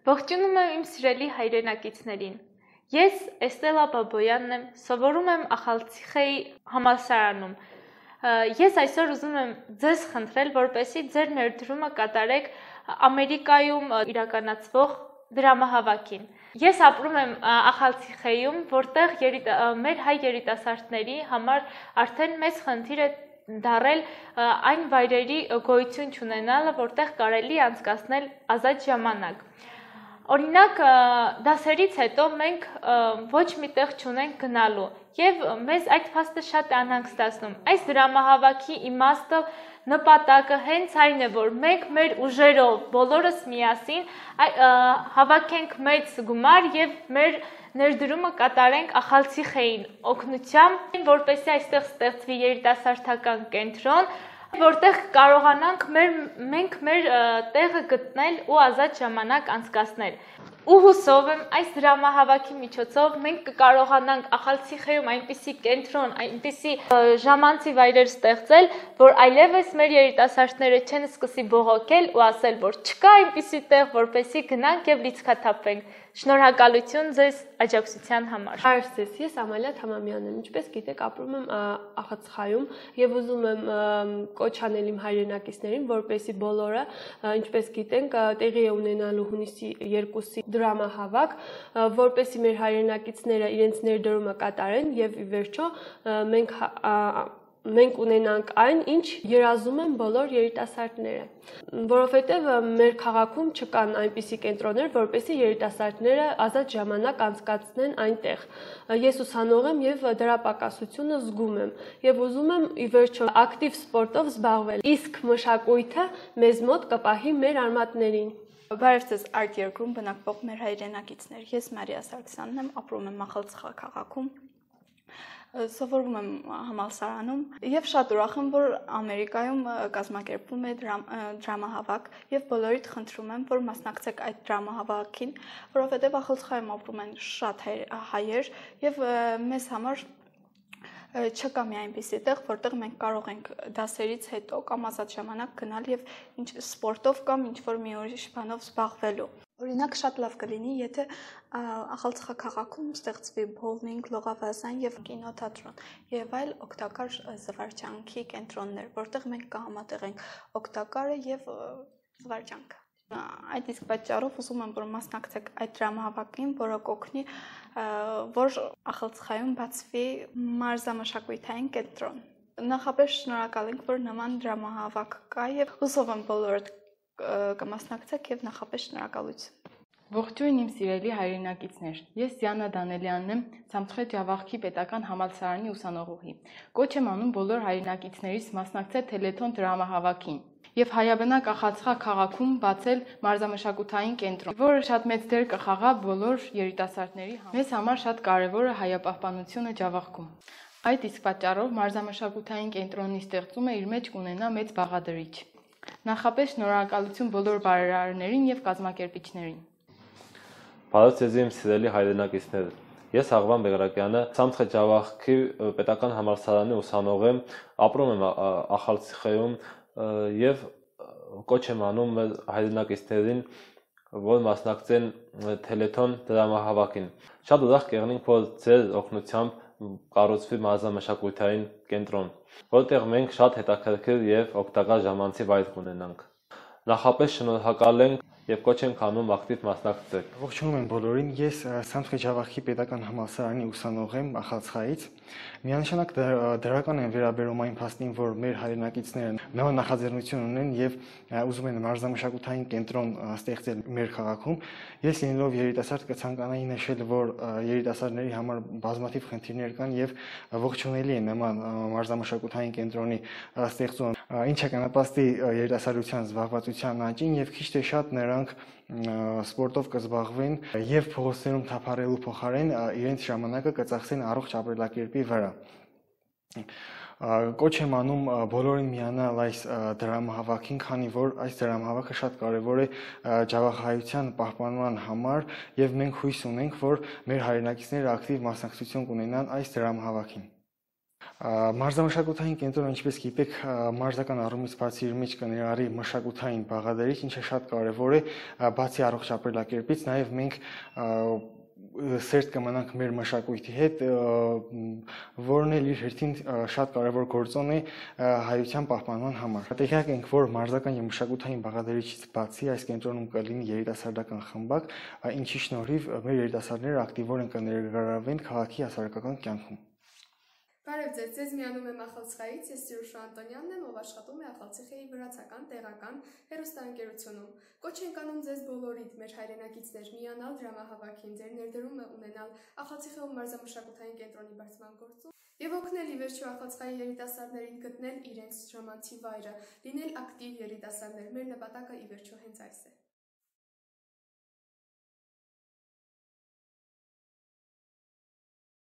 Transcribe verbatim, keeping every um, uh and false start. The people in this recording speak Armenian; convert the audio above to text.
Ողջունում եմ իմ սիրելի հայրենակիցներին։ Ես Էստելա Բաբոյանն եմ, սովորում եմ Ախալցիխեի համալսարանում։ Ես այսօր ուզում եմ ձեզ խնդրել, որպեսզի ձեր ներդրումը կատարեք Ամերիկայում իրականացվող դրամահավաքին։ Ես ապրում եմ Ախալցիխեյում, որտեղ մեր հայ երիտասարդների համար արդեն մեծ խնդիր է դարել այն վայրերի գոյություն չունենալը, որտեղ կարելի է անցկացնել ազատ ժամանակ։ Օրինակ, դասերից հետո մենք ոչ մի տեղ չունենք գնալու եւ մեզ այդ փաստը շատ է անհանգստացնում։ Այս դրամահավաքի իմաստը, նպատակը հենց այն է, որ մենք մեր ուժերով բոլորս միասին հավաքենք մեծ գումար եւ մեր ներդրումը կատարենք Ախալցիխեին օգնությամբ, որպեսզի այստեղ ստեղծվի երիտասարդական կենտրոն, որտեղ կարողանանք մեր, մենք մեր տեղը գտնել ու ազատ ժամանակ անցկացնել։ Ու հուսով եմ այս դրամահավաքի միջոցով մենք կկարողանանք Ախալցիխեյում այնպիսի կենտրոն, այնպիսի ժամանցի վայրեր ստեղծել, որ այլևս մեր երիտասարդները չեն սկսի բողոքել ու ասել, որ չկա այնպիսի տեղ, որպեսզի գնանք եւ լիցքաթափվենք։ Շնորհակալություն ձեզ աջակցության համար։ Հարց ձեզ, ես Ամալիա Թամամյանն եմ, ինչպես գիտեք, ապրում եմ Ախալցիխայում եւ ուզում եմ կոչ անել իմ հայրենակիցներին, որպեսզի բոլորը, ինչպես գիտենք, տեղի է ունենալու հունիսի երկուսի դրամահավաք, որպեսզի մեր հայրենակիցները իրենց ներդրումը կատարեն եւ ի վերջո մենք մենք ունենանք այն, ինչ երազում են բոլոր երիտասարդները, որովհետև մեր քաղաքում չկան այնպիսի կենտրոններ, որպեսզի երիտասարդները ազատ ժամանակ անցկացնեն այնտեղ։ Ես ուսանող եմ եւ դրա պակասությունը զգում եմ եւ ուզում եմ ի վերջո ակտիվ սպորտով զբաղվել, իսկ մշակույթը մեզ մոտ կպահի մեր արմատներին։ Բարև ձեզ արտ երկրում բնակվող մեր հայրենակիցներ, ես Մարիա Սարգսյանն եմ, ապրում եմ Ախալցիխա քաղաքում, սովորում եմ համալսարանում եւ շատ ուրախ եմ, որ Ամերիկայում կազմակերպվում է դրամահավաք եւ բոլորիդ խնդրում եմ, որ մասնակցեք այդ դրամահավաքին, որովհետեւ Ախալցիխայում ապրում են շատ հայեր եւ մեզ համար չկա մի այնպիսի տեղ, որտեղ մենք կարող ենք դասերից հետո կամ ազատ ժամանակ գնալ եւ ինչ սպորտով կամ ինչ որ մի ուրիշ բանով զբաղվելու։ Օրինակ շատ լավ կլինի, եթե Ախալցիխա քաղաքում ստեղծվի բոուլինգ, լողավազան եւ կինոթատրոն եւ այլ օգտակար զվարճանքի կենտրոններ, որտեղ մենք կհամատեղենք օգտակարը եւ զվարճանքը։ Այդ իսկ պատճառով ուզում եմ, որ մասնակցեք այդ դրամահավաքին, որը կօգնի, որ Ախալցիխայում բացվի մարզամշակութային կենտրոն։ Նախապես շնորհակալ ենք, որ նման դրամահավաք կա եւ հուսով եմ բոլորդ կմասնակցեք եւ նախապես շնորհակալություն։ Ողջույն իմ սիրելի հայրենակիցներ, ես Դիանա Դանելյանն եմ, Ցամցխե Ջավախքի պետական համալսարանի ուսանողուհի։ Կոչ եմ անում բոլոր հայրենակիցներից մասնակցել Թելեթոն դրամահավաքին եւ հայաբնակ Ախալցիխա քաղաքում բացել մարզամշակութային կենտրոն, որը շատ մեծ դեր կխաղա բոլոր երիտասարդների համար։ Մեզ համար շատ կարեւոր է հայապահպանությունը Ջավախքում։ Այդ իսկ պատճառով մարզամշակութային կենտրոնի ստեղծումը իր մեջ կունենա մեծ բաղադրիչ։ Նախապես շնորհակալություն բոլոր բարերարներին եւ կազմակերպիչներին։ Բարև ձեզ իմ սիրելի հայրենակիցներ։ Ես Աղվան Բեղրակյանը, Ցամցխե Ջավախքի պետական համալսարանի ուսանող եմ, ապրում եմ Ախալցիխեյում եւ կոչ եմ անում մեր հայրենակիցներին, որ մասնակցեն Թելեթոն դրամահավաքին։ Շատ ուրախ կեղնենք, որ ձեր օգնությամբ կառուցվի մարզամշակութային կենտրոն, որտեղ մենք շատ հետաքրքիր եւ օգտակար ժամանցի վայր կունենանք։ Նախապես շնորհակալ ենք եւ կոչ ենք անում ակտիվ մասնակցեք։ Ողջունում եմ բոլորին, ես Ցամցխե Ջավախքի պետական համալսարանի ուսանող եմ Ախալցիխայից։ Միանշանակ դրական են վերաբերում այն փաստին, որ մեր հայրենակիցները նման նախաձեռնություն ունեն եւ ուզում են մարզամշակութային կենտրոն ստեղծել մեր քաղաքում։ Ես լինելով երիտասարդ կցանկանայի նշել, որ երիտասարդների համար բազմաթիվ խնդիրներ կան եւ ողջունելի է նման մարզամշակութային կենտրոնի ստեղծումը, ինչը կնպաստի երիտասարդության զբաղվածության աճին եւ քիչ թե շատ նրանք սպորտով կզբաղվեն եւ փողոցներում թափառելու փոխարեն իրենց ժամանակը կծախսեն առողջ ապրելակերպի վրա։ Կոչ եմ անում բոլորին միանալ այս դրամահավաքին, քանի որ այս դրամահավաքը շատ կարևոր է ջավախայության պահպանման համար եւ մենք հույս ունենք, որ մեր հայրենակիցները ակտիվ մասնակցություն կունենան այս դրամահավաքին։ Մարզամշակութային կենտրոնը, ինչպես գիտեք, մարզական առումից բացի իր մեջ կներառի մշակութային բաղադրիչ, ինչը շատ կարևոր է, բացի առողջ ապրելակերպից, նաև մենք սերտ կմնանք մեր մշակույթի հետ, որն էլ իր հերթին շատ կարևոր գործոն է հայության պահպանման համար։ Տեղյակ ենք, որ մարզական եւ մշակութային բաղադրիչից բացի այս կենտրոնում կլինի երիտասարդական խմբակ, ինչի շնորհիվ մեր երիտասարդները ակտիվորեն կներգրավվեն քաղաքի հասարակական կյանքում։ Բարև ձեզ, ձեզ միանում եմ Ախալցիխայից, ես Սիրուշ Անտոնյանն եմ, ով աշխատում է Ախալցիխայի վրացական տեղական հեռուստաընկերությունում։ Կոչ ենք անում ձեզ բոլորիդ մեր հայրենակիցներ միանալ դրամահավաքին, ձեր ներդրումը ունենալ Ախալցիխայում մարզամշակութային կենտրոնի բարձրման գործում եւ օգնել ի վերջո Ախալցիխայի երիտասարդներին գտնել իրենց ժամանցի վայրը, լինել ակտիվ երիտասարդներ։ Մեր նպատակը ի վերջո հենց այս է։